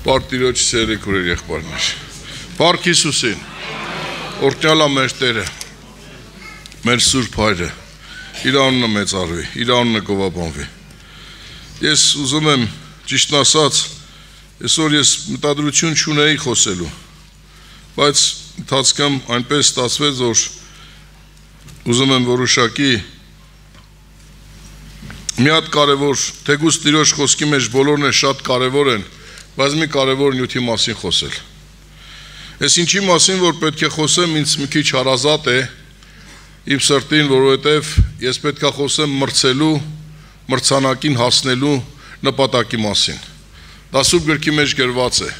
Պարտիրոջ սիրելի քույրեր եղբայրներ, Փառք Հիսուսին, օրհնյալ է մեր Տերը, մեր Սուրբ Հայրը, իր անունը մեծարվի, իր անունը գովաբանվի։ Ես ուզում եմ ճիշտն ասած, այսօր ես մտադրություն չունեի խոսելու, բայց ընթացքում այնպես ստացվեց, որ ուզում եմ որոշակի մի հատ կարևոր, թեկուզ Տիրոջ խոսքի մեջ բոլորն են շատ կարևոր են, բայց մի կարևոր նյութի մասին խոսել։ Ես ինչի մասին, որ պետք է խոսեմ, ինձ մի քիչ հարազատ է իմ սրտին, որովհետև ես պետք է խոսեմ մրցելու, մրցանակին հասնելու նպատակի մասին։ Դա Սուրբ գրքի մեջ գրված է։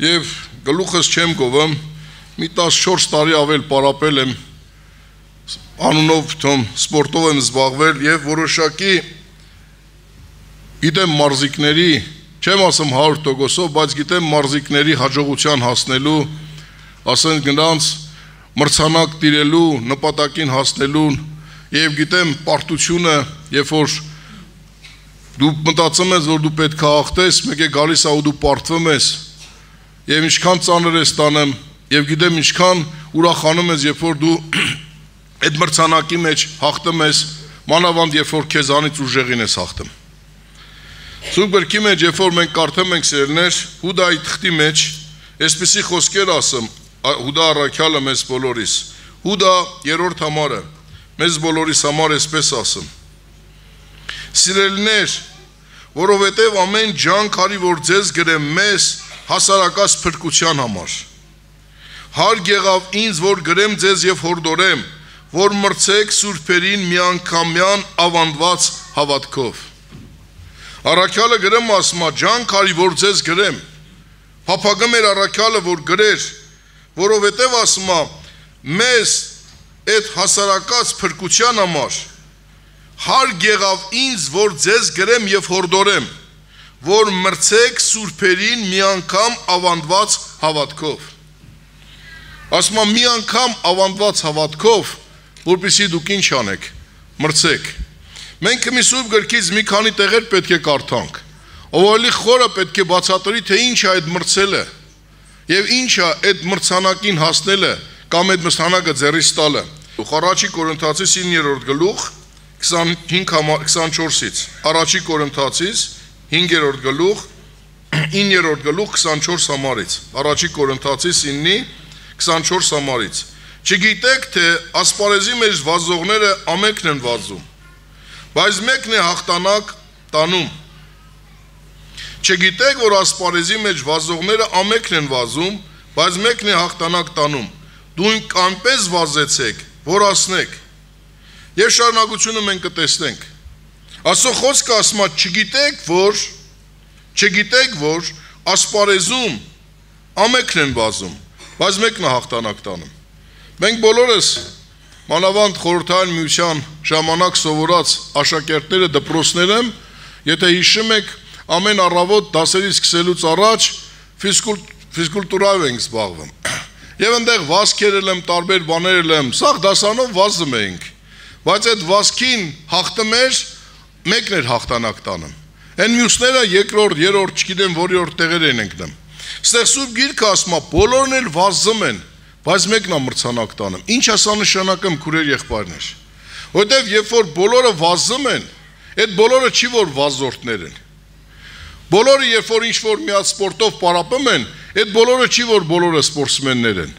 Եվ գլուխս չեմ գովում, մի 14 տարի ավել պարապել եմ, անունով սպորտով եմ զբաղվել եւ որոշակի գիտեմ մարզիկների, չեմ ասում 100%, բայց գիտեմ մարզիկների հաջողության հասնելու, ասենք նրանց մրցանակ տիրելու, նպատակին հասնելու եւ գիտեմ պարտությունը, երբ որ դու մտածում ես, որ դու պետք է հաղթես, մեկ է գալիս է ու դու պարտվում ես եւ ինչքան ծանր է ստանում եւ գիտեմ ինչքան ուրախանում ես, երբ որ դու այդ մրցանակի մեջ հաղթում ես, մանավանդ երբ որ քեզանից ուժեղին ես հաղթում։ Սուրբ գրքի մեջ, երբ որ մենք կարդում ենք սիրելիներ, Հուդայի թղթի մեջ, այսպիսի խոսքեր ասում, Հուդա առաքյալը մեզ բոլորիս, Հուդա 3-րդ համարը, մեզ բոլորիս համար այսպես ասում. Սիրելիներ, որովհետև ամեն ջանք արի, որ ձեզ գրեմ մեզ հասարակած փրկության համար։ Հարկ եղավ ինձ, որ գրեմ ձեզ եւ հորդորեմ, որ մրցեք սուրբերին միանգամյան ավանդված հավատքով։ Առաքյալը գրեմ ասմա, ջանք արի, որ ձեզ գրեմ, փափագում էր առաքյալը, որ գրեր, որովհետև ասմա, մեզ այդ հասարակած փրկության համար, հարկ եղավ ինձ, որ ձեզ գրեմ եւ հորդորեմ, որ մրցեք սուրբերին մի անգամ ավանդված հավատքով։ Ասմա, մի անգամ ավանդված հավատքով, որպեսզի դուք ինչ անեք, մրցեք։ Մենք մի Սուրբ գրքից մի քանի տեղեր պետք է կարդանք, ով ավելի խորը պետք է բացատրի, թե ինչ է այդ մրցելը եւ ինչ է այդ մրցանակին հասնելը կամ այդ մրցանակը ձեռից տալը։ Առաջի Կորինթացիս 9-րդ գլուխ 25-24-ից, Առաջի Կորինթացիս 5-րդ գլուխ 9-րդ գլուխ 24 համարից, Առաջի Կորինթացիս 9-ի 24 համարից։ Չգիտեք, թե ասպարեզի մեջ վազողները ամենքն են վազում, բայց մեկն է հաղթանակ տանում։ Չգիտեք, որ ասպարեզի մեջ վազողները ամենքն են վազում, բայց մեկն է հաղթանակ տանում։ Դուք այնպես վազեցեք, որ ասնեք։ Եվ շարունակությունը մենք կտեսնենք։ Աստծո խոսքը ասում է, չգիտեք, որ ասպարեզում ամենքն են վազում, բայց մեկն է հաղթանակ տանում։ Մենք բոլորս մանավանդ խորհրդային միության ժամանակ սովորած աշակերտները դպրոցները, եթե հիշում եք, ամեն առավոտ դասերից սկսելուց առաջ ֆիզկուլտուրայով ենք զբաղվում։ Եվ այնտեղ վազքեր եմ, տարբեր բաներ եմ, սաղ դասանով վազում էինք, բայց այդ վազքին հաղթում էր, մեկն էր հաղթանակ տանում։ Այն մյուսները երկրորդ, երրորդ, չգիտեմ որի տեղեր են ընկնում։ Ստեղ Սուրբ գիրքը ասում է, բոլորն էլ վազում են, բայց մեկն է մրցանակ տանում։ Ինչ է սա նշանակում, քուրեր եղբայրներ։ Որտեվ երբ որ բոլորը վազում են, այդ բոլորը չի որ վազորդներ են։ Բոլորը երբ որ ինչ-որ մի հատ սպորտով պարապում են, այդ բոլորը չի որ բոլորը սպորտսմեններ են։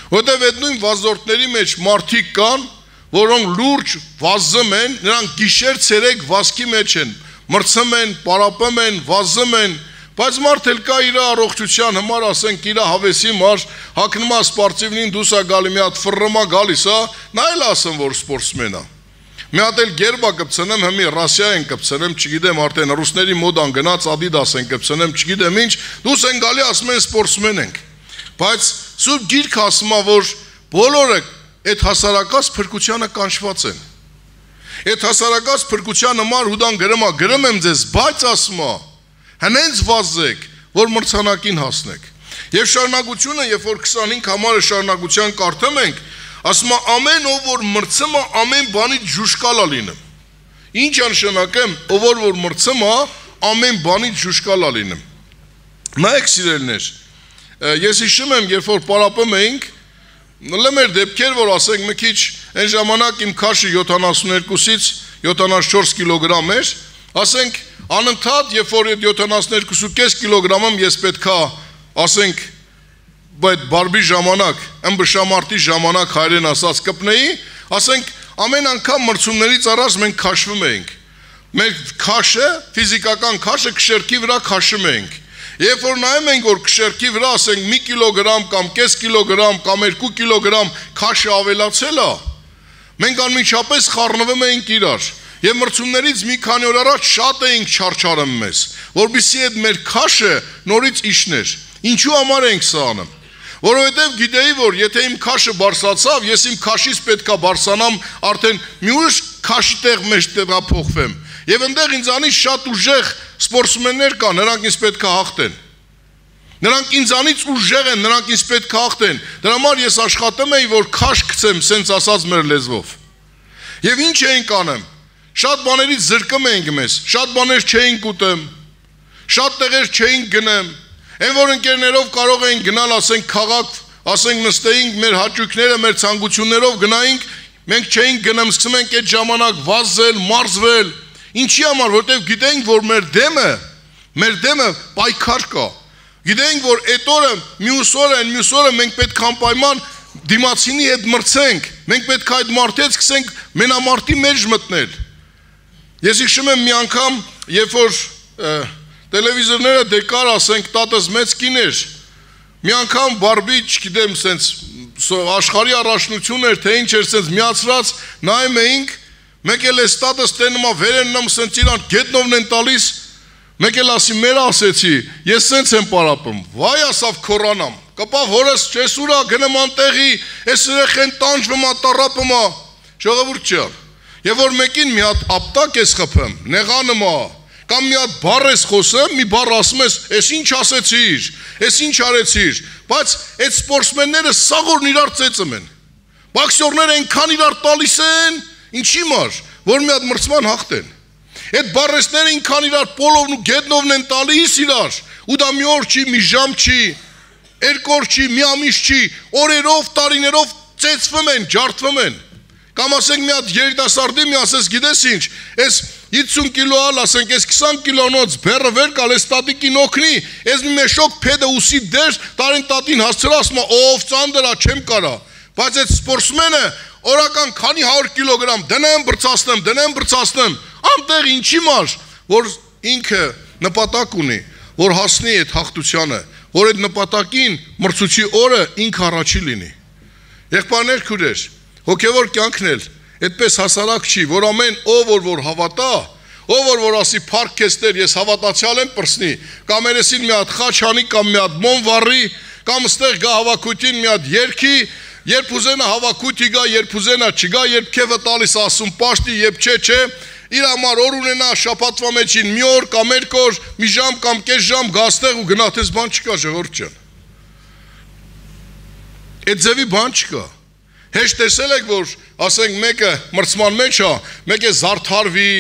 Որտեվ այդ նույն վազորդների մեջ մարդիկ կան, որոնք լուրջ վազում են, նրանք գիշեր-ցերեկ վազքի մեջ են, մրցում են, պարապում են, վազում են, բայց մարդ էլ կա իր առողջության համար, ասենք իր հավեսի մար, հագնում է սպորտիվնին դուրս է գալի, մի հատ ֆռռմա գալիս է, նա էլ ասում որ սպորտսմեն է։ Մի հատ էլ գերբա կպցնեմ, հիմի Ռասիա են կպցնեմ, չգիտեմ, արդեն ռուսների մոդան գնաց, Adidas են կպցնեմ, չգիտեմ ինչ, դուրս են գալի, ասում են սպորտսմեն ենք։ Բայց Սուրբ գիրքը ասում է, որ բոլորը այդ հասարակած փրկությանը կանչված են։ Այդ հասարակած փրկության համար Հուդան գրում եմ ձեզ, բայց ասում է, հենց վազեք, որ մրցանակին հասնեք։ Եվ շարունակությունը, երբ որ 25 համարը շարունակության կարդում ենք, ասում է ամեն ով որ մրցում է, ամեն բանից ժուշկալ է լինում։ Ինչ է նշանակում, ով որ մրցում է, ամեն բանից ժուշկալ է լինում։ Նայեք սիրելիներ, ես հիշում եմ, երբ որ պարապում էինք, լմեր դեպքեր, որ ասենք մի քիչ այն ժամանակ իմ քաշը 72-ից 74 կիլոգրամ էր, ասենք անընդհատ, երբ որ 72.5 կիլոգրամում ես պետքա, ասենք, այդ բարբի ժամանակ, ըմբշամարտի ժամանակ հայերեն ասած կպնեի, ասենք ամեն անգամ մրցումներից առաջ մենք քաշվում էինք։ Մեր քաշը, ֆիզիկական քաշը քշերքի վրա քաշում էինք։ Երբ որ նայում ենք, որ քշերքի վրա ասենք 1 կիլոգրամ կամ կես կիլոգրամ կամ 2 կիլոգրամ քաշը ավելացել է, մենք անմիջապես խառնվում էինք իրար։ Եվ մրցումներից մի քանի օր առաջ շատ էինք չարչարում մեզ, որովհետեւ այդ մեր քաշը նորից իշներ։ Ինչու համար ենք սա անում։ Որովհետև գիտեի, որ եթե իմ քաշը բարձրացավ, ես իմ քաշից պետքա բարձրանամ արդեն մի ուրիշ քաշի տեղ մեջ տեղափոխվեմ։ Եվ այնտեղ ինձանից շատ ուժեղ սպորտսմեններ կան, նրանք ինձ պետքա հաղթեն։ Նրանք ինձանից ուժեղ են, նրանք ինձ պետքա հաղթեն։ Դրա համար ես աշխատում էի, որ քաշ գցեմ, սենց ասած մեր լեզվով։ Եվ ինչ էինք անում։ Շատ բաներից զրկում էինք մեզ, շատ բաներ չէինք ուտեմ, շատ տեղեր չէինք գնեմ։ Այն որ ընկերներով կարող էին գնալ, ասենք քաղաք, ասենք նստեինք մեր հաճույքները, մեր ցանկություններով գնայինք, մենք չէինք գնում, սկսում ենք այդ ժամանակ վազել, մարզվել։ Ինչի համար, որտեղ գիտենք, որ մեր դեմը պայքար կա։ Գիտենք, որ այդ օրը, մյուս օրը մենք պետք է անպայման դիմացինի հետ մրցենք։ Մենք պետք է այդ մարդից սկսենք մենամարտի մեջ մտնել։ Ես հիշում եմ մի անգամ, երբ որ տելևիզորները դեկար, ասենք, տատս մեծ կին էր, մի անգամ բարբի, չգիտեմ, սենց աշխարհի առաջնություն էր, թե ինչ էր, սենց միացրած, նայում էինք, մեկ էլ էս տատս տենում է վերեննում, սենց իրան գետնովն են տալիս, մեկ էլ ասի մեր ասեցի, ես սենց եմ պարապում, վայ ասավ քորանամ, կպավ հորս չես ուրա, գնեմ անտեղի, ես երեխեն տանջվում ա, տառապում ա, ժողովուրդ չար, եւ որ մեկին մի հատ ապտակ ես խփում, նեղանում ա, կամ մի հատ բառ ես խոսում, մի բառ ասում ես, ես ինչ ասեցիր, ես ինչ արեցիր, բայց այդ սպորտսմենները սաղորն իրար ծեծում են, բոքսյորները այնքան իրար տալիս են, ինչի մար, որ մի հատ մրցման հաղթեն, այդ բառեսները այնքան իրար պոլովն ու գետնովն են տալիս իրար, ու դա մի օր չի, մի ժամ չի, երկու օր չի, մի ամիս չի, օրերով, տարիներով ծեծվում են, ջարդվում են, կամ ասենք մի հատ երիտասարդի մի ասես գիտես ինչ, ես 50 կիլո ալ, ասենք, ես 20 կիլոնոց բերը վեր կալ, ես տատիկին օգնի, ես մի մեշոք պեդը ուսի դեր, տարին տատին հասցրա, ասում ով ծանդրա, չեմ կարա, բայց այդ սպորտսմենը օրական քանի 100 կիլոգրամ դնեմ բրցացնեմ, անտեղ ինչի մար, որ ինքը նպատակ ունի, որ հասնի այդ հաղթությանը, որ այդ նպատակին մրցուցի օրը ինքը առաջի լինի։ Եղբայրներ, քույրեր, հոգևոր կյանքն էլ այդպես հասարակ չի, որ ամեն ով որ հավատա, ով որ ասի փառք քեզ Տեր, ես հավատացյալ եմ պրսնի, կամ երեսին մի հատ խաչ անի, կամ մի հատ մոմ վառի, կամ ստեղ գա հավաքույթին մի հատ երգի, երբ ուզենա հավաքույթի գա, երբ ուզենա չգա, երբ քեվը տալիս ասում պաշտի, երբ չէ, իր համար օր ունենա շաբաթվա մեջին մի օր կամ երկու օր, մի ժամ կամ կես ժամ գա ստեղ ու գնա, թես բան չկա, ժողովուրդ ջան։ Այդ ձևի բան չկա։ Հեշտ տեսել եք, որ ասենք մեկը մրցման մեջ է, մեկը զարդարվի,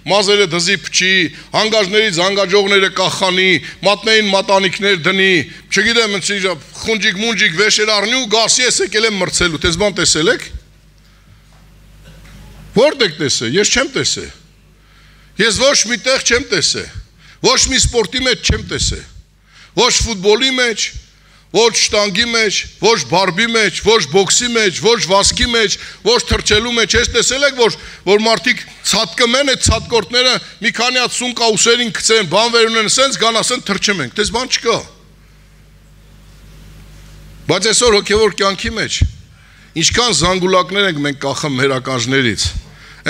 մազերը դզի փչի, հանգաժներից հանգաջողները կախանի, մատներին մատանիքներ դնի, չգիտեմ, խունջիկ վեշեր առնի ու գասի ես եկել եմ մրցելու, տես բան տեսել եք։ Որտե՞ք տեսել, ես չեմ տեսել։ Ես ոչ մի տեղ չեմ տեսել, ոչ մի սպորտի մեջ չեմ տեսել, ոչ ֆուտբոլի մեջ, ոչ շտանգի մեջ, ոչ բարբի մեջ, ոչ բոքսի մեջ, ոչ վազքի մեջ, ոչ թռչելու մեջ, ես տեսել եք, որ մարդիկ ցածկում են, այդ ցածկորտները մի քանի հատ սուն կաուսերին գցեն, բան վեր ունեն, սենց գան ասեն թռչում ենք, դες բան չկա։ Բայց այսօր հոգևոր կյանքի մեջ ինչքան զանգուլակներ ենք մենք կախում մեր ականջներից,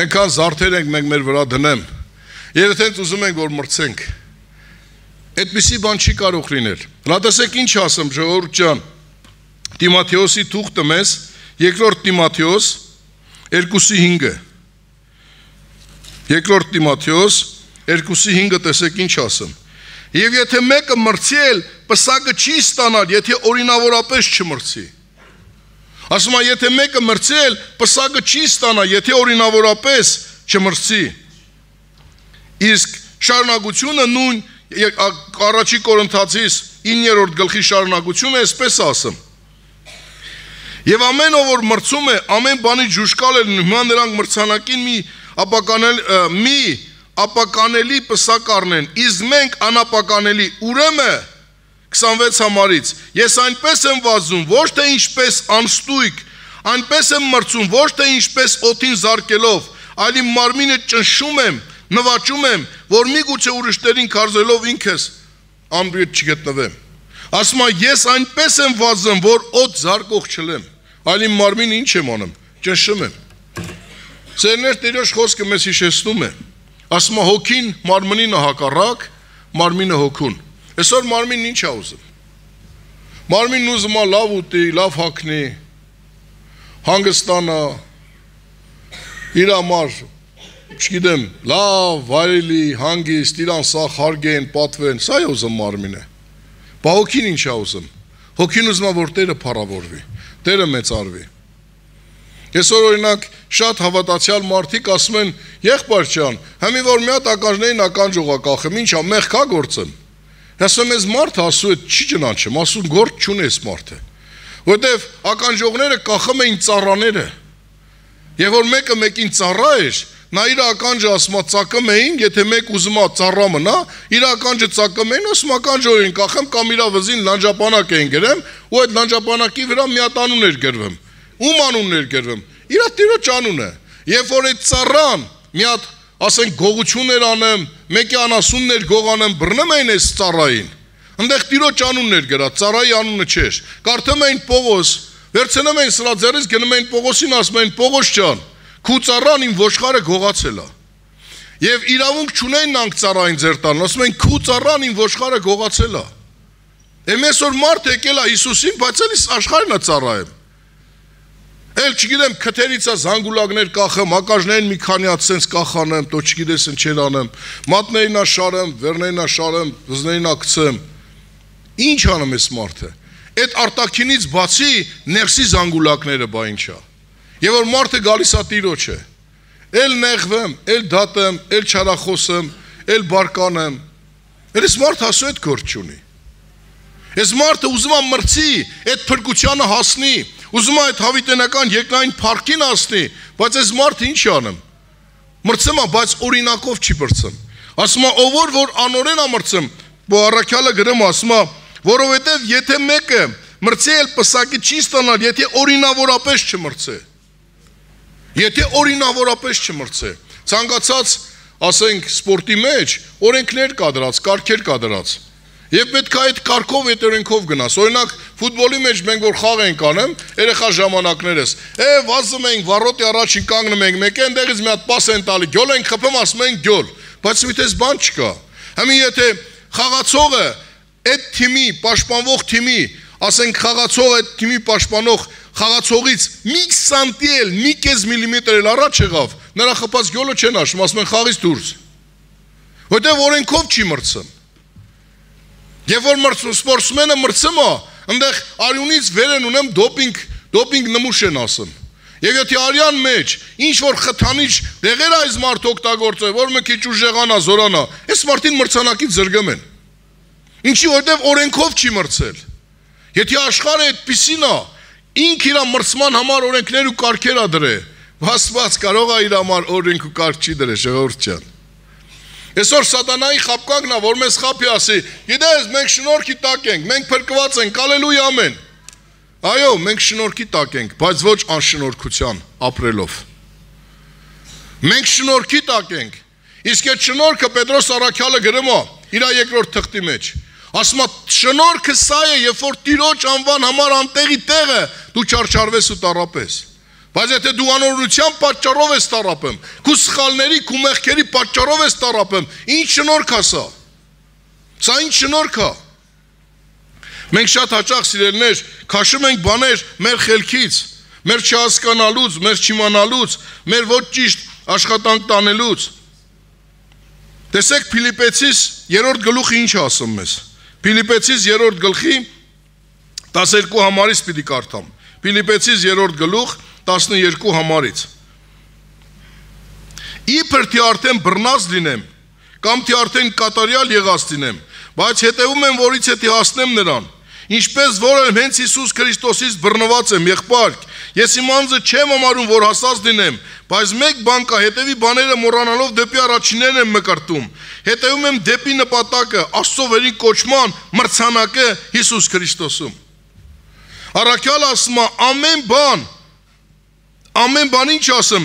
այնքան զարդեր ենք մենք մեր վրա դնեմ, եւ եթե ուզում ենք որ մրցենք, այդպիսի բան չի կարող լինել։ Լատեսեք ինչ ասեմ, ժողովուրդ ջան, Տիմոթեոսի թուղթը մեզ, երկրորդ Տիմոթեոս 2:5-ը։ Երկրորդ Տիմոթեոս 2:5-ը տեսեք ինչ ասեմ։ Եվ եթե մեկը մրցել, պսակը չի ստանալ, եթե օրինավորապես չմրցի։ Ասում է, եթե մեկը մրցել, պսակը չի ստանա, եթե օրինավորապես չմրցի։ Իսկ շարունակությունը նույն առաջի Կորինթացիս 9-րդ գլխի շարունակությունը այսպես ասում. Եվ ամեն ով որ մրցում է, ամեն բանի ջուշկալ է, հիմա նրանք մրցանակին մի ապականելի պսակ առնեն, իսկ մենք անապականելի, ուրեմն 26 համարից, ես այնպես եմ վազում, ոչ թե ինչպես անստույկ, այնպես եմ մրցում, ոչ թե ինչպես օդին զարկելով, այլ իմ մարմինը ճնշում եմ, նվաճում եմ, որ միգուցե ուրիշներին քարզելով ինքս անբիետ չգտնվեմ։ Ասում եմ, ես այնպես եմ վազում, որ օդ զարկող չլեմ, այլ իմ մարմինը ինչ եմ անում, ճնշում եմ։ Սերներ Տիրոջ խոսքը մեզ հիշեցնում է, ասում եմ, հոգին մարմնին հակառակ, մարմինը հոգուն։ Այսօր մարմինն ինչ է ուզում։ Մարմինն ուզում է լավ ուտի, լավ հագնի, հանգստանա, իր համար, չգիտեմ, լավ, վայելի, հանգիստ, իրան սաղ հարգեն, պատվեն, սա է ուզում մարմինը։ Բա հոգին ինչ է ուզում։ Հոգին ուզում է, որ Տերը փառավորվի, Տերը մեծարվի։ Այսօր օրինակ շատ հավատացյալ մարդիկ ասում են, եղբայր ջան, համի որ մի հատ ականջներին ականջողա կախեմ, ինչ ա մեղք ա գործեմ։ Ասում ես մարդը ասում է չի ճանաչեմ, ասում գործ չունես մարդը։ Որտեվ ականջողները կախում էին ծառաները։ Եվ որ մեկը մեկին ծառա էր, նա իր ականջը ասում է ծակում էին, եթե մեկ ուզում է ծառա մնա, իր ականջը ծակում էին, ասում ականջորին կախեմ կամ իր վզին լանջապանակ էին գրեմ, ու այդ լանջապանակի վրա մի հատ անուն էր գրվում։ Ում անունն էր գրվում։ Իր Տիրոջ անունը։ Երբ որ այդ ծառան մի հատ ասենք գողություններ անեմ, մեկի անասուններ գողանեմ, բռնում էին այս ծառային։ Այնտեղ Տիրոջ անունն էր գրած, ծառայի անունը չէր։ Կարդում էին Պողոս, վերցնում էին սրա ձեռից, գնում էին Պողոսին, ասում էին Պողոս ջան, քու ծառան իմ ոչխարը գողացել է։ Եվ իրավունք չունեն նրանք ծառային ձեռ տան, ասում են քու ծառան իմ ոչխարը գողացել է։ Այսօր մարդ եկել է Հիսուսին, բայց էլի աշխարհն է ծառայում։ Էլ չգիտեմ, քթերից է զանգուլակներ կախեմ, ակաժներին մի քանի հատ սենց կախանեմ, տո չգիտես ընչեր անեմ, մատներին ա շարեմ, վերներին ա շարեմ, վզներին ա գցեմ։ Ինչ անում ես մարդը։ Այդ արտաքինից բացի ներսի զանգուլակները բա ինչ է։ Եվ որ մարդը գալիս է Տիրոջը, էլ նեղվեմ, էլ դատեմ, էլ չարախոսեմ, էլ բարկանեմ։ Այս մարդը ասում այդ գործ չունի։ Այս մարդը ուզում է մրցի, այդ փրկությանը հասնի, ուզում է այդ հավիտենական երկնային փառքին հասնի, բայց այս մարդը ինչ անում։ Մրցում է, բայց օրինակով չի մրցում։ Ասում է, ով որ անօրեն է մրցում, Առաքյալը գրում ասում է, որովհետև եթե մեկը մրցի էլ պսակի չի ստանալ, եթե օրինավորապես չմրցե։ Եթե օրինավորապես չմրցե։ Ցանկացած, ասենք, սպորտի մեջ օրենքներ կա դրած, կարգեր կա դրած։ Եվ պետք է այդ կարգով այդ օրենքով գնաս։ Օրինակ, ֆուտբոլի մեջ մենք որ խաղ ենք անում, երեխա ժամանակներս, վազում ենք, վառոտի առաջին կանգնում ենք, մեկը այնտեղից մի հատ պաս են տալի, գյոլ ենք խփում, ասում ենք գյոլ, բայց մի տես բան չկա։ Համի եթե խաղացողը այդ թիմի, պաշտպանվող թիմի, ասենք խաղացողը այդ թիմի պաշտպանող խաղացողից մի սանտիել, մի կես միլիմետր էլ առաջ եղավ, նրա խփած գյոլը չեն հաշվում, ասում են խաղից դուրս։ Որտեղ օրենքով չի մրցում։ Եվ որ սպորտսմենը մրցում է, այնտեղ արյունից վեր են ունեմ դոպինգ նմուշ են ասում։ Եվ եթե արյան մեջ ինչ որ խթանիչ դեղեր այս մարդ օգտագործել, որ մի քիչ ուժեղանա, զորանա, այս մարդին մրցանակից զրկում են։ Ինչի որտեղ օրենքով չի մրցել։ Եթե աշխարհը այդպիսին է, ինք իր մրցման համար օրենքներ ու կարգեր ա դրե, Աստված կարող է իր համար օրենք ու կարգ չի դրե, ժողովուրդ ջան։ Այսօր սատանայի խապկանքն է, որ մեզ խապի ասի, գիտես, մենք շնորհքի տակ ենք, մենք փրկված ենք, հալելույա ամեն։ Այո, մենք շնորհքի տակ ենք, բայց ոչ անշնորհքության ապրելով։ Մենք շնորհքի տակ ենք։ Իսկ այդ շնորհքը Պետրոս Առաքյալը գրում է իր երկրորդ թղթի մեջ։ Ասում է, շնորհքը սա է, երբ որ Տիրոջ անվան համար անտեղի տեղը դու չարչարվես ու տառապես։ Բայց եթե դու անօրինության պատճառով ես տառապում, քու սխալների, քու մեղքերի պատճառով ես տառապում, ինչ շնորհք է սա։ Սա ինչ շնորհք է։ Մենք շատ հաճախ սիրելիներ քաշում ենք բաներ մեր խելքից, մեր չհասկանալուց, մեր չիմանալուց, մեր ոչ ճիշտ աշխատանք տանելուց։ Տեսեք Փիլիպեցիս 3-րդ գլուխը ինչ ասում մեզ։ Փիլիպեցիս 3-րդ գլխի 12 համարից պիտի կարդամ։ Փիլիպեցիս 3-րդ գլուխ 12 համարից։ Իբր թե արդեն բռնած լինեմ, կամ թե արդեն կատարյալ եղած լինեմ, բայց հետևում եմ, որից հետի հասնեմ նրան։ Ինչպես որ հենց Հիսուս Քրիստոսից բռնված եմ, եղբայր, ես իմ անձը չեմ համարում, որ հասած լինեմ, բայց մեկ բան կա, հետևի բաները մոռանալով դեպի առաջիններն եմ մկրտում, հետևում եմ դեպի նպատակը, Աստծո վերին կոչման մրցանակը Հիսուս Քրիստոսում։ Առաքյալը ասում է, ամեն բան ինչ ասեմ,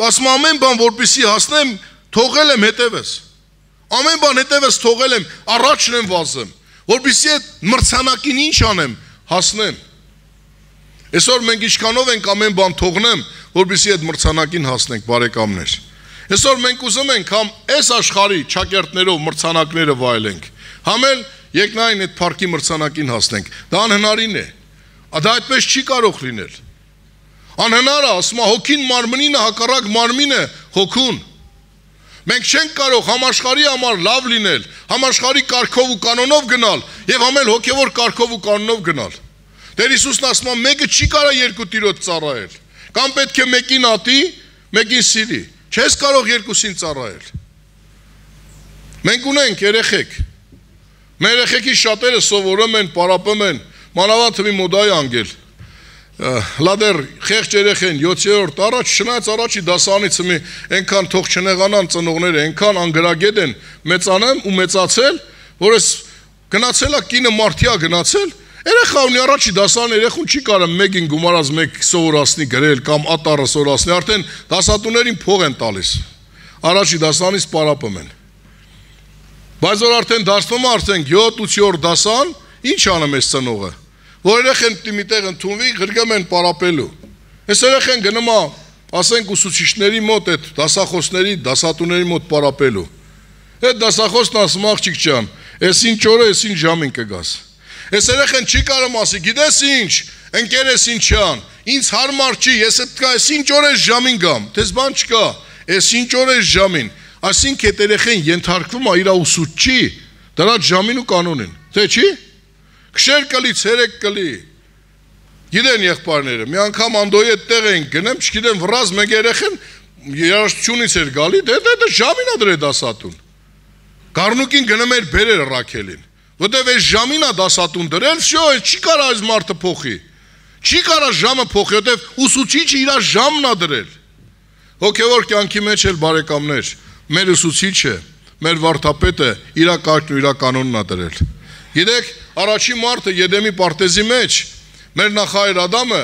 ասում ամեն բան, որպեսզի հասնեմ, թողել եմ հետևես։ Ամեն բան հետևես թողել եմ, առաջն եմ վազեմ, որպեսզի այդ մրցանակին ինչ անեմ, հասնեմ։ Այսօր մենք ինչքանով ենք ամեն բան թողնեմ, որպեսզի այդ մրցանակին հասնենք, բարեկամներ։ Այսօր մենք ուզում ենք համ այս աշխարհի ճակերտներով մրցանակները վայելենք, համ էլ եկնային այդ փառքի մրցանակին հասնենք։ Դա անհնարին է։ Դա այդպես չի կարող լինել։ Անհնար է, ասում է, հոգին մարմնին է, հակառակ մարմինը հոգուն։ Մենք չենք կարող համաշխարհի համար լավ լինել, համաշխարհի կարգով ու կանոնով գնալ եւ համ էլ հոգեվոր կարգով ու կանոնով գնալ։ Տեր Հիսուսն ասում է, մեկը չի կարող երկու տիրոջ ծառայել։ Կամ պետք է մեկին ատի, մեկին սիրի։ Չես կարող երկուսին ծառայել։ Մենք ունենք երեխեք։ Մեր երեխեքի շատերը սովորում են, պարապում են, մանավանդ թվի մոդայի անգել։ Լադեր խեղճ երեխեն 7-րդ առաջ շնայց առաջի դասանից մի այնքան թող չնեղանան ծնողները, այնքան անգրագետ են մեծանեմ ու մեծացել, որ ես գնացել է կինը մարդիա գնացել, երեխա ունի առաջի դասան երեխուն չի կարող մեկին գումարած մեկ սովորացնի գրել կամ ատարը սովորացնի, արդեն դասատուներին փող են տալիս։ Առաջի դասանից պարապում են։ Բայց որ արդեն դասվում է արդեն 7-8 դասան, ինչ անում է ծնողը։ Որ երեխեն մի տեղ ընդունվի, գրգում են պարապելու։ Այս երեխեն գնում է, ասենք ուսուցիչների մոտ, այդ դասախոսների, դասատուների մոտ պարապելու։ Այդ դասախոսն ասում աղջիկ ջան, այս ինչ օրը, այս ինչ ժամին կգաս։ Այս երեխեն չի կարող ասի, գիտես ինչ, ընկերես ինչան, ինձ հարմար չի, ես այս ինչ օրը ժամին գամ, դες բան չկա, այս ինչ օրը ժամին։ Այսինքն այդ երեխեն ենթարկվում է իր ուսուցչի, դրա ժամին ու կանոնին։ Թե չի։ Քշեր կլի, ցերեկ կլի։ Գիտեն եղբայրները, մի անգամ Անդոյի այդ տեղ են գնեմ, չգիտեմ վրազ մեկ երեխեն երաժշտությունից էր գալի, դե ժամին ա դրե դասատուն։ Գառնուկին գնում էր բերեր Ռաքելին, որտեվ այս ժամին ա դասատուն դրել, շո, չի կարա այս մարդը փոխի։ Չի կարա ժամը փոխի, որտեվ ուսուցիչը իր ժամն ա դրել։ Հոգևոր կյանքի մեջ էլ բարեկամներ, մեր ուսուցիչը, մեր վարդապետը իր կարգն ու իր կանոնն ա դրել։ Գիտեք, առաջի մարդը Եդեմի պարտեզի մեջ մեր նախահայր Ադամը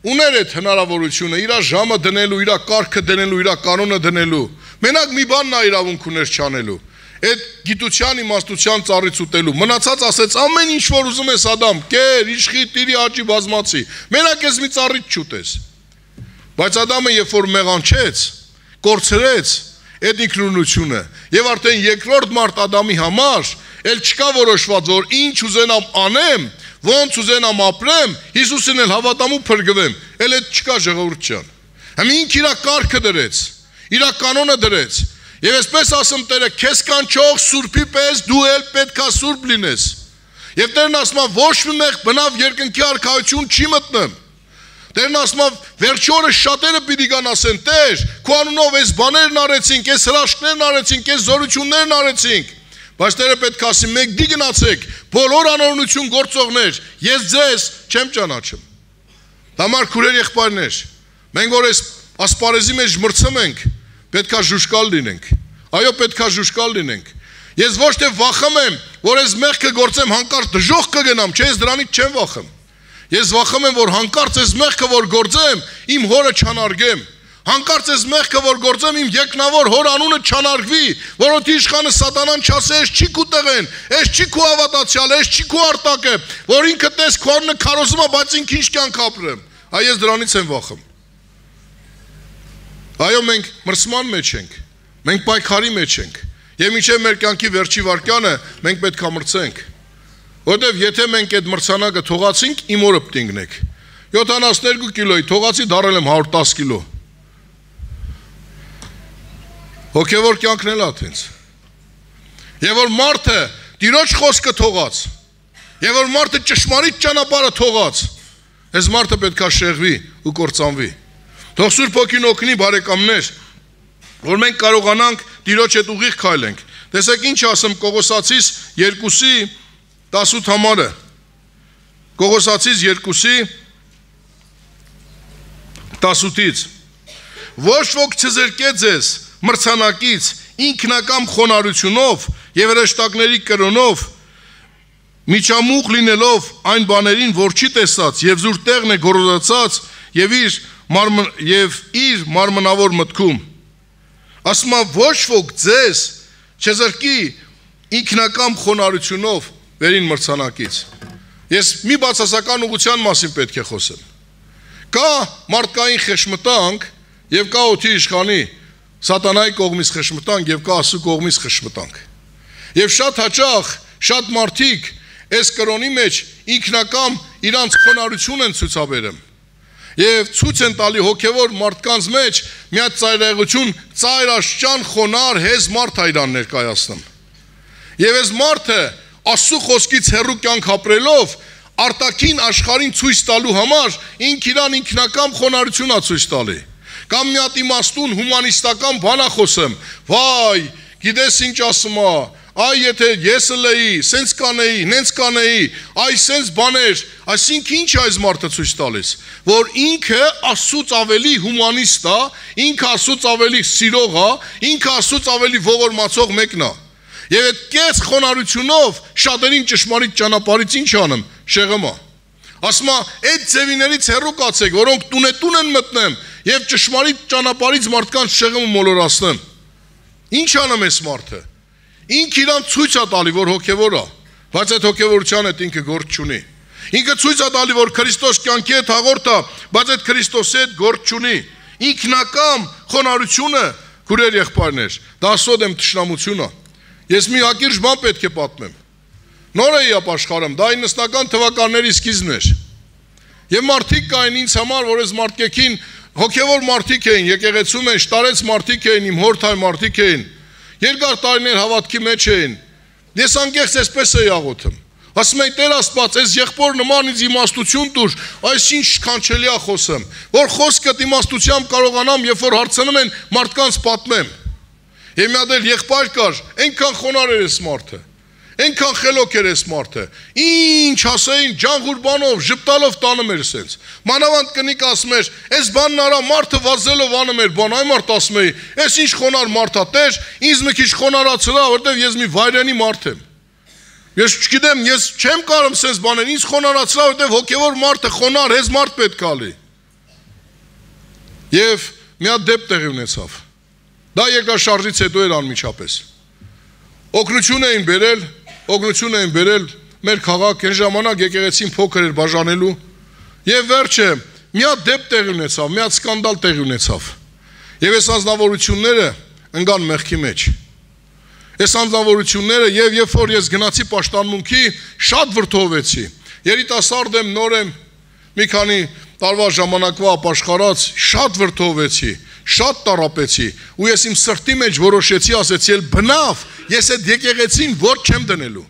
ուներ այդ հնարավորությունը իր ժամը դնելու, իր կարգը դնելու, իր կանոնը դնելու։ Մենակ մի բան նա իրավունք ուներ չանելու։ Այդ գիտության իմաստության ծառից ուտելու։ Մնացած ասեց ամեն ինչ որ ուզում ես Ադամ, կեր, իշխի, տիրի, աճի, բազմացի։ Մենակ ես մի ծառից չուտես։ Բայց Ադամը երբ որ մեղանչեց, կորցրեց այդ ինքնուրույնությունը եւ արդեն երկրորդ մարդ Ադամի համար էլ չկա որոշված, որ ինչ ուզենամ անեմ, ոնց ուզենամ ապրեմ, Հիսուսին էլ հավատամ ու փրկվեմ, էլ այդ չկա ժողովուրդ ջան։ Հիմա ինքը իր կարգը դրեց, իր կանոնը դրեց, եւ այսպես ասում Տերը, քեզ կանչող սուրբի պես դու էլ պետքա սուրբ լինես։ Եվ Տերն ասում է, ոչ մի մեղ բնավ երկնքի արքայություն չի մտնեմ։ Տերն ասում է, վերջի օրը շատերը պիտի գան ասեն, Տեր, քո անունով այս բաներն արեցինք, այս հրաշքներն արեցինք, այս զորություններն արեցինք։ Բայց Տերը պետք է ասի, մեկ դի գնացեք, բոլոր անօրենություն գործողներ, ես ձեզ չեմ ճանաչում։ Համար քուրեր եղբայրներ, մենք որ այս ասպարեզի մեջ մրցում ենք, պետք է ժուշկալ լինենք։ Այո, պետք է ժուշկալ լինենք։ Ես ոչ թե վախում եմ, որ այս մեղքը գործեմ հանկարծ դժոխք կգնամ, չէ, ես դրանից չեմ վախում։ Ես վախում եմ, որ հանկարծ այս մեղքը որ գործեմ, իմ հորը չանարգեմ։ Հանկարծ այս մեղքը որ գործեմ իմ եկնավոր հոր անունը չանարգվի, որոնց իշխանը սատանան չասի, ես չի քու տեղեն, ես չի քու հավատացյալ, ես չի քու արտակը, որ ինքը տես քո անունը քարոզում է, բայց ինքը ինչ կյանք ապրեմ։ Այ ես դրանից եմ վախում։ Այո, մենք մրցման մեջ ենք, մենք պայքարի մեջ ենք, եւ մինչեւ մեր կյանքի վերջի վարկյանը մենք պետք է մրցենք։ Որտեւ եթե մենք այդ մրցանակը թողացինք, իմ օրը պտինգնենք։ 72 կիլոյի թողացի դարել եմ 110 կիլո։ Հոգևոր կյանքն էլ աթենց։ Եվ որ մարդը Տիրոջ խոսքը թողած, եւ որ մարդը ճշմարիտ ճանապարհը թողած, այս մարդը պետք է շեղվի ու կործանվի։ Թող Սուրբ Հոգին օգնի բարեկամներ, որ մենք կարողանանք Տիրոջ հետ ուղիղ քայլենք։ Տեսեք ինչ ասեմ Կողոսացիս 2:18 համարը։ Կողոսացիս 2:18 Ոչ ոք չզրկե ձեզ մրցանակից ինքնակամ խոնարհությունով եւ հրեշտակների կրոնով միջամուխ լինելով այն բաներին, որ չի տեսած եւ զուր տեղն է գոռոզացած եւ իր մարմնավոր մտքում։ Ասում է ոչ ոք ձեզ չզրկի ինքնակամ խոնարհությունով վերին մրցանակից։ Ես մի բացասական ուղղության մասին պետք է խոսեմ։ Կա մարդկային խշմտանք եւ կա օդի իշխանի սատանայի կողմից խշմտանք եւ կա Աստծո կողմից խշմտանք։ Եվ շատ հաճախ շատ մարդիկ այս կրոնի մեջ ինքնակամ իրանց խոնարհություն են ցուցաբերում։ Եվ ցույց են տալի հոգևոր մարդկանց մեջ մի հատ ծայրահեղություն, ծայրաշճան խոնար հեզ մարդ է իրան ներկայացնում։ Եվ այս մարդը Աստծո խոսքից հեռու կյանք ապրելով արտաքին աշխարհին ցույց տալու համար իրան ինքնակամ խոնարհություն է ցույց տալի։ Կամ մի հատ իմաստուն հումանիստական բան է խոսում։ Վայ, գիտես ինչ ասում է, այ եթե ես լեի, սենց կանեի, նենց կանեի, այ սենց բաներ, այսինքն ինչ այս մարդը ցույց տալիս, որ ինքը Աստծուց ավելի հումանիստ է, ինքը Աստծուց ավելի սիրող է, ինքը Աստծուց ավելի ողորմացող մեկն է։ Եվ այդ կես խոնարհությունով շատերին ճշմարիտ ճանապարհից ինչ անում, շեղում է։ Ասում է, այդ ձևիներից հեռու կացեք, որոնք տունետուն են մտնեմ եւ ճշմարիտ ճանապարհից մարդկանց շեղում ու մոլորացնեմ։ Ինչ անում էս մարդը։ Ինքը իրան ցույց է տալի, որ հոգևոր է, բայց այդ հոգևորության հետ ինքը գործ չունի։ Ինքը ցույց է տալի, որ Քրիստոս կյանքի հետ հաղորդ է, բայց այդ Քրիստոսի հետ գործ չունի։ Ինքնակամ խոնարհությունը, քուրեր եղբայրներ, դա սոդեմ թշնամություն է։ Ես մի հակիրճ բան պետք է պատմեմ։ Նոր էի ապաշխարում, դա 90-ական թվականների սկիզբն էր։ Եվ մարդիկ կային ինձ համար, որ այս մարդկեքին հոգևոր մարդիկ էին, եկեղեցու մեջ տարեց մարդիկ էին, իմ հորթայ մարդիկ էին։ Երկար տարիներ հավատքի մեջ էին։ Ես անկեղծ այսպես էի աղոթում։ Ասում էի Տեր Աստված, այս եղբոր նման ինձ իմաստություն տուր, այս ինչ սքանչելի է խոսում, որ խոսքդ իմաստությամբ կարողանամ, երբ որ հարցնում են մարդկանց պատմեմ։ Եվ մի հատ էլ եղբայր կար, այնքան խոնարհ էր այս մարդը։ Այնքան խելոք էր այս մարդը։ Ինչ ասեին, ջանղուր բանով, ժպտալով տանում էր սենց։ Մանավանդ կնիկ ասում էր, այս բանն արա մարդը վազելով անում էր բան, այ մարդ ասում էի, այս ինչ խոնար մարդ է, Տեր, ինձ մի քիչ խոնարհացրա, որտեվ ես մի վայրենի մարդ եմ։ Ես չգիտեմ, ես չեմ կարող սենց բաներ, ինձ խոնարհացրա, որտեվ հոգևոր մարդը խոնար, հեզ մարդ պետք է լինի։ Եվ մի հատ դեպք տեղի ունեցավ։ Դա երկրաշարժից հետո էր անմիջապես։ Օգնություն էին բերել մեր քաղաք, այն ժամանակ եկեղեցին փոքր էր բաժանելու եւ վերջը մի հատ դեպք տեղի ունեցավ, մի հատ սկանդալ տեղի ունեցավ։ Եվ այս անձնավորությունները ընկան մեղքի մեջ։ Այս անձնավորությունները եւ երբ որ ես գնացի պաշտամունքի, շատ վրդովեցի։ Երիտասարդ եմ, նոր եմ, մի քանի տարվա ժամանակվա ապաշխարած, շատ վրդովեցի, շատ տառապեցի ու ես իմ սրտի մեջ որոշեցի, ասեցի, բնավ ես այդ եկեղեցին ոչ չեմ դնելու։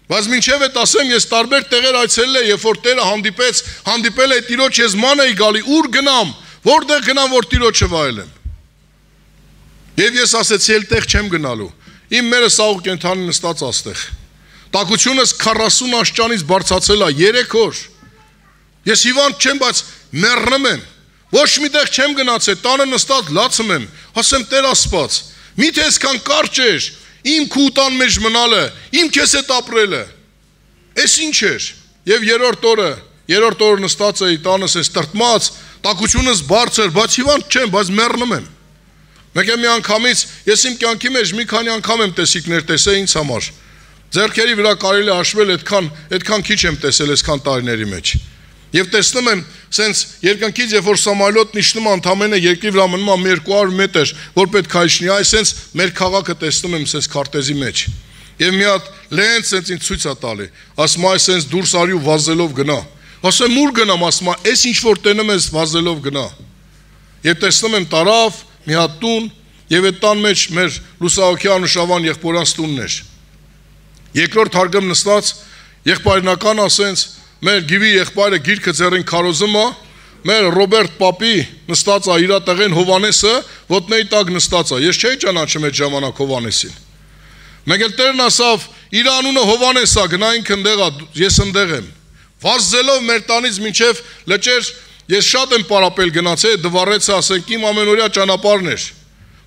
Բայց մինչև այդ ասեմ, ես տարբեր տեղեր այցելել եմ, երբ որ Տերը հանդիպել է Տիրոջ, ես ման էի գալի, ուր գնամ, որտեղ գնամ, որ Տիրոջը վայելեմ։ Եվ ես ասեցի, էլ տեղ չեմ գնալու։ Իմ մերը սաղ կենթանի նստած աստեղ։ Տակությունս 40 աշճանից բարձացել է 3 օր։ Ես հիվանդ չեմ, բայց մեռնում եմ։ Ոչ միտեղ չեմ գնացել, տանը նստած լացում եմ, ասեմ Տեր Աստված, միթե այսքան կարճ էր իմ քու տան մեջ մնալը, իմ քեզ հետ ապրելը։ Էս ինչ էր։ Եվ երրորդ օրը նստած էի տանս էս տրտմած, տակությունս բարձր, բայց հիվանդ չեմ, բայց մեռնում եմ։ Մեկ է մի անգամից ես իմ կյանքի մեջ մի քանի անգամ եմ տեսիկներ տեսել ինձ համար։ Ձեռքերի վրա կարելի է հաշվել, այդքան քիչ եմ տեսել այսքան տարիների մեջ։ Եվ տեսնում եմ, սենց երկնքից, երբ որ Սամալյոտն իջնում ընդամենը երկրի վրա մնում 200 մետր, որ պետք է իջնի, այ սենց մեր քաղաքը տեսնում եմ սենց քարտեզի մեջ։ Եվ մի հատ լենց սենց ինձ ցույց է տալի, ասում այ սենց դուրս արի ու վազելով գնա։ Ասում ուր գնամ, ասում այս ինչ որ տենում ես վազելով գնա։ Եվ տեսնում եմ տարավ մի հատ տուն, եւ այդ տան մեջ մեր Լուսահոգյան ու Շավան եղբորանց տունն էր։ Երկրորդ հարգում նստած եղբայրնական ասենց մեր գիվի եղբայրը գիրքը ձեռին քարոզում է, մեր Ռոբերտ Պապի նստած է իր տեղին Հովանեսը, ոտնեի տակ նստած է։ Ես չէի ճանաչում այդ ժամանակ Հովանեսին։ Մեկ էլ Տերն ասավ, իր անունը Հովանես է, գնայինք ընդեղ է, ես ընդեղ եմ։ Վազելով մեր տանից մինչև լճեր, ես շատ եմ պարապել գնացել, դվառեց ասենք իմ ամենօրյա ճանապարհն էր։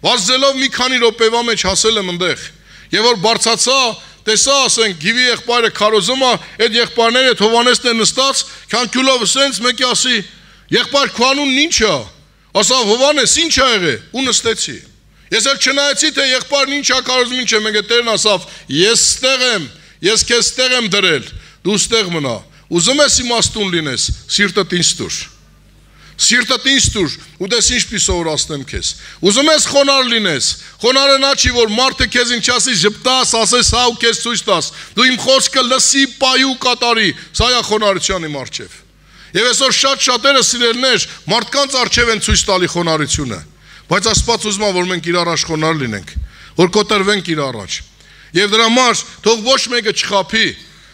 Վազելով մի քանի րոպեվա մեջ հասել եմ ընդեղ։ Եվ որ բարձացա, տեսա ասենք գիվի եղբայրը քարոզում է, այդ եղբայրները այդ Հովանեսն է նստած, քանքյուլով սենց մեկի ասի, եղբայր քո անունն ինչ է։ Ասավ Հովանես, ինչ ա եղել, ու նստեցի։ Ես էլ չնայեցի թե եղբայրն ինչ ա քարոզում, ինչ է, մեկ է Տերն ասավ, ես ստեղ եմ, ես քեզ ստեղ եմ դրել, դու ստեղ մնա։ Ուզում ես իմաստուն լինես, սիրտդ ինձ տուր։ Սիրտդ ինձ տուր, ու դες ինչպես սովորացնեմ քեզ։ Ուզում ես խոնար լինես, խոնարը նա չի, որ մարդը քեզ ինչ ասի, ժպտաս, ասես հա ու քեզ ցույց տաս։ Դու իմ խոսքը լսի, պայի ու կատարի, սա է խոնարհության իմ առջև։ Եվ այսօր շատերը սիրելներ մարդկանց առջև են ցույց տալի խոնարհությունը, բայց Աստված ուզում է, որ մենք իր առաջ խոնարհ լինենք, որ կոտրվենք իր առաջ։ Եվ դրա համար թող ոչ մեկը չխաբի։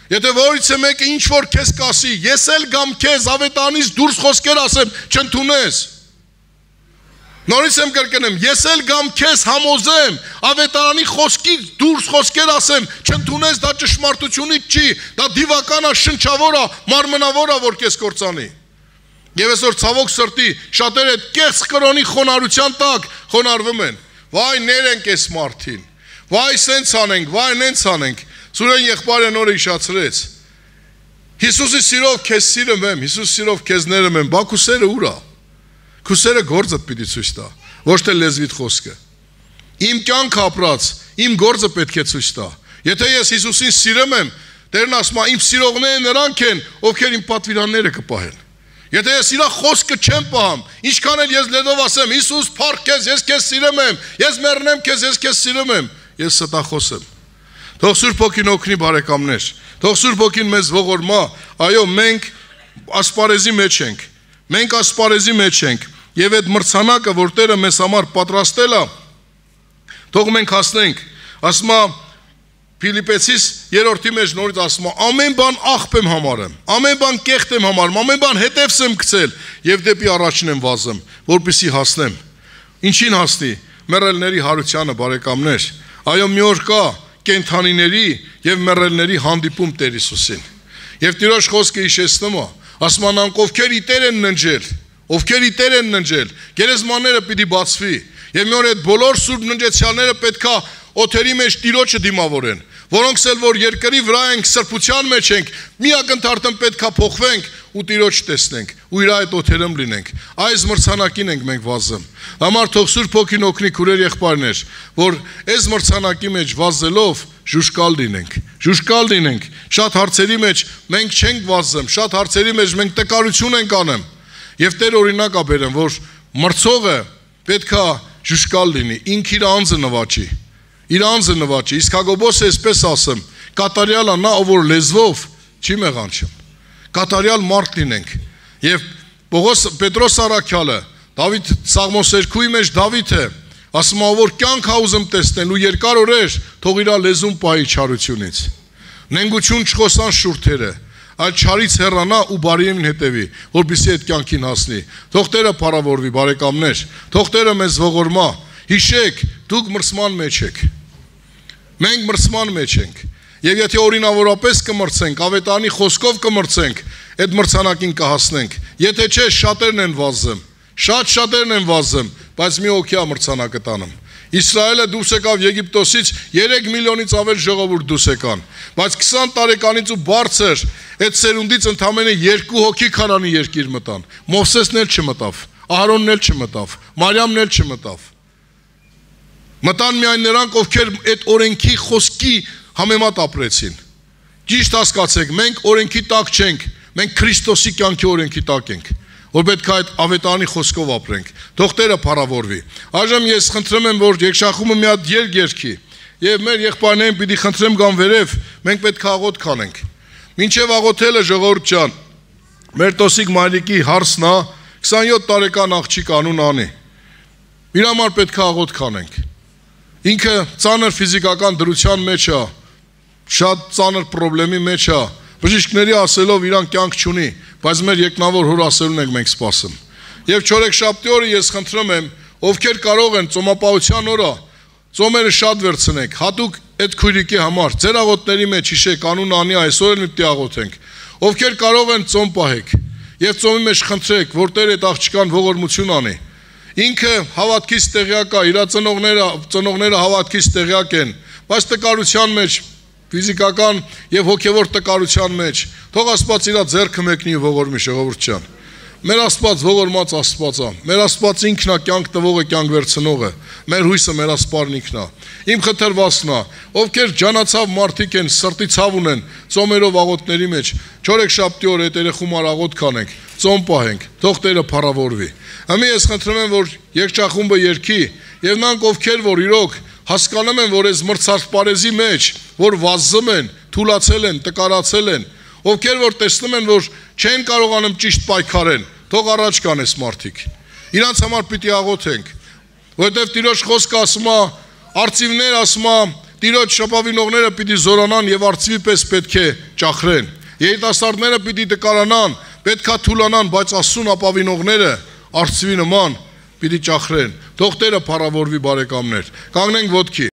Եթե որից է մեկը ինչ որ քեզ կասի, ես էլ գամ քեզ ավետարանից դուրս խոսքեր ասեմ, չընդունես։ Նորից եմ կրկնեմ, ես էլ գամ քեզ համոզեմ, ավետարանի խոսքից դուրս խոսքեր ասեմ, չընդունես, դա ճշմարտությունից չի, դա դիվական է, շնչավոր է, մարմնավոր է, որ քեզ կործանի։ Եվ այսօր ցավոք սրտի շատերը այդ կեղծ կրոնի խոնարհության տակ խոնարհվում են։ Վայ ներենք այս մարդին։ Վայ սենց անենք, վայ նենց անենք։ Սուրեն եղբայրը նորը իշացրեց։ Հիսուսի սիրով քեզ սիրում եմ, Հիսուս սիրով քեզ ներում եմ, բա քու սերը ուր է։ Քու սերը գործդ պիտի ցույց տա, ոչ թե լեզվիդ խոսքը։ Իմ կյանք ապրած, իմ գործը պետք է ցույց տա։ Եթե ես Հիսուսին սիրում եմ, Տերն ասում է, իմ սիրողները նրանք են, ովքեր իմ պատվիրանները կպահեն։ Եթե ես իր խոսքը չեմ պահում, ինչքան էլ ես լեզվով ասեմ, Հիսուս փառք քեզ, ես քեզ սիրում եմ, ես մեռնեմ քեզ, ես քեզ սիրում եմ, ես ստախոս եմ։ Թող Սուրբ Հոգին օգնի բարեկամներ, թող Սուրբ Հոգին մեզ ողորմա, այո, մենք ասպարեզի մեջ ենք, մենք ասպարեզի մեջ ենք, եւ այդ մրցանակը, որ Տերը մեզ համար պատրաստել է, թող մենք հասնենք, ասում է Ֆիլիպեցիս 3-րդի մեջ նորից ասում է, ամեն բան աղբ եմ համարում, ամեն բան կեղտ եմ համարում, ամեն բան հետևս եմ գցել եւ դեպի առաջին եմ վազում, որպեսզի հասնեմ։ Ինչին հասնի։ Մեռելների հարությանը, բարեկամներ։ Այո, մի օր կա կենթանիների եւ մեռելների հանդիպում Տեր Հիսուսին։ Եվ Տիրոջ խոսքը հիշեցնում է, ասում է նրանք ովքեր իտեր են ննջել, ովքեր իտեր են ննջել, գերեզմանները պիտի բացվի։ Եվ մի օր այդ բոլոր սուրբ ննջեցյալները պետքա օթերի մեջ Տիրոջը դիմավորեն, որոնք էլ որ երկրի վրա ենք, սրբության մեջ ենք, մի ակնթարթն պետքա փոխվենք ու Տիրոջ տեսնենք, ու իր այդ օթերում լինենք։ Այս մրցանակին ենք մենք վազում։ Համար թող Սուրբ Հոգին օգնի քուրեր եղբայրներ, որ այս մրցանակի մեջ վազելով ժուշկալ լինենք, ժուշկալ լինենք։ Շատ հարցերի մեջ մենք չենք վազում, շատ հարցերի մեջ մենք տկարություն ենք անում։ Եվ Տեր օրինակ է բերում, որ մրցողը պետքա ժուշկալ լինի, ինքը իր անձը նվաճի։ Իր անձը նվաճի, իսկ Հակոբոսը այսպես ասում, կատարյալ է նա, ով որ լեզվով չի մեղանչում, կատարյալ մարդ լինենք։ Եվ Պետրոս Առաքյալը, Դավիթ Սաղմոսերկուի մեջ Դավիթը ասում է, որ կյանք ա ուզում տեսնել ու երկար օրեր թող իր լեզուն պահի չարությունից։ Նենգություն չխոսան շուրթերը, այլ չարից հեռանա ու բարիին հետևի, որպեսզի այդ կյանքին հասնի։ Թող Տերը փառավորվի, բարեկամներ, թող Տերը մեզ ողորմա։ Հիշեք, դուք մրցման մեջ եք։ Մենք մրցման մեջ ենք։ Եվ եթե օրինավորապես կմրցենք, ավետարանի խոսքով կմրցենք, այդ մրցանակին կհասնենք։ Եթե չէ, շատերն են վազում, շատերն են վազում, բայց մի օքյա մրցանակը տանում։ Իսրայելը դուրս եկավ Եգիպտոսից 3 միլիոնից ավել ժողովուրդ դուրս եկան, բայց 20 տարեկանից ու բարձր այդ սերունդից ընդամենը 2 հոգի քանանի երկիր մտան։ Մովսեսն էլ չմտավ, Ահարոնն էլ չմտավ, Մարիամն էլ չմտավ։ Մտան միայն նրանք, ովքեր այդ օրենքի խոսքի համեմատ ապրեցին։ Ճիշտ հասկացեք, մենք օրենքի տակ չենք, մենք Քրիստոսի կյանքի օրենքի տակ ենք, որ պետք է այդ ավետարանի խոսքով ապրենք։ Թող Տերը փառավորվի։ Այժմ ես խնդրում եմ, որ երգշախումը մի հատ երգ երգի, եւ մեր եղբայրներին պիտի խնդրեմ գան վերև, մենք պետք է աղոթ կանենք։ Մինչև աղոթելը ժողովուրդ ջան, մեր Տոսիկ Մայրիկի հարսն է, 27 տարեկան աղջիկ անուն անի։ Իր համար պետք է աղոթ կանենք։ Ինքը ծանր ֆիզիկական դրության մեջ է, շատ ծանր խնդրի մեջ է, բժիշկների ասելով իրան կյանք չունի, բայց մեր եկնավոր հոր ասելուն ենք մենք սպասում։ Եվ չորեքշաբթի օրը ես խնդրում եմ, ովքեր կարող են ծոմապահության օրը ծոմերը շատ վերցնեք, հատուկ այդ քույրիկի համար, ձեր աղոթների մեջ հիշեք, անունը անի այսօր էլ մի աղոթենք, ովքեր կարող են ծոմ պահեք, եւ ծոմի մեջ խնդրեք, որ Տեր այդ աղջկան ողորմություն անի։ Ինքը հավատքից տեղյակ է, իր ծնողները հավատքից տեղյակ են, բայց տկարության մեջ, ֆիզիկական եւ հոգեվոր տկարության մեջ, թող Աստված իր ձեռքը մեկնի ու ողորմի, ժողովուրդ ջան։ Մեր Աստված ողորմած Աստված է, մեր Աստված ինքն է կյանք տվողը, կյանք վերցնողը, մեր հույսը մեր Աստվածն ինքն է։ Իմ խնդրվածքն է, ովքեր ջանացավ մարդիկ են, սրտի ցավ ունեն, ծոմերով աղոթների մեջ, չորեքշաբթի օր այդ երեխումար աղոթ կանենք, ծոմ պահենք, թող Տերը փառավորվի։ Հիմա ես խնդրում եմ, որ երգչախումբը երգի, եւ նրանք ովքեր որ իրոք հասկանում են, որ այս մրցարդ պարեզի մեջ, որ վազում են, թուլացել են, տկարացել են, ովքեր որ տեսնում են, որ չեն կարողանում ճիշտ պայքարեն, թող առաջ կան այս մարդիկ։ Իրանց համար պիտի աղոթենք, որովհետև Տիրոջ խոսքը ասում է, արծիվներ ասում է, Տիրոջ շապավինողները պիտի զորանան եւ արծիվի պես պետք է ճախրեն։ Երիտասարդները պիտի տկարանան, պետքա թուլանան, բայց Աստծուն ապավինողները արծիվի նման պիտի ճախրեն։ Թող Տերը փառավորվի բարեկամներ։ Կանգնենք ոտքի։